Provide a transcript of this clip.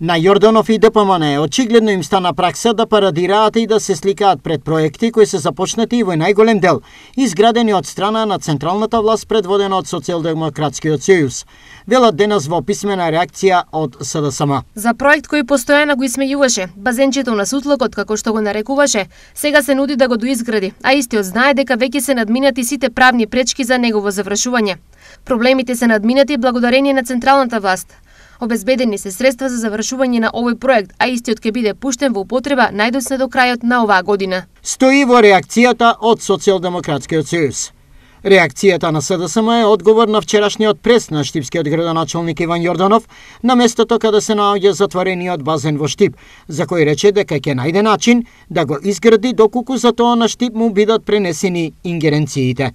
На Јорданов и ДПМН очигледно им стана пракса да парадираат и да се сликаат пред проекти кои се започнати и во најголем дел изградени од страна на централната власт предводена од Социјалдемократскиот сојуз. Велат денес во писмена реакција од СДСМ. За проект кој постојано го исмејуваше, базенчето на сутлокот како што го нарекуваше, сега се нуди да го доизгради, а истиот знае дека веќе се надминати сите правни пречки за негово завршување. Проблемите се надминати благодарение на централната власт. Обезбедени се средства за завршување на овој проект, а истиот ќе биде пуштен во употреба најдоцна до крајот на оваа година. Стои во реакцијата од Социјалдемократскиот сојуз. Реакцијата на СДСМ е одговор на вчерашниот прес на штипскиот градоначалник Иван Јорданов на местото каде се наоѓа затворениот базен во Штип, за кој рече дека ќе најде начин да го изгради доколку за тоа на Штип му бидат пренесени ингеренциите.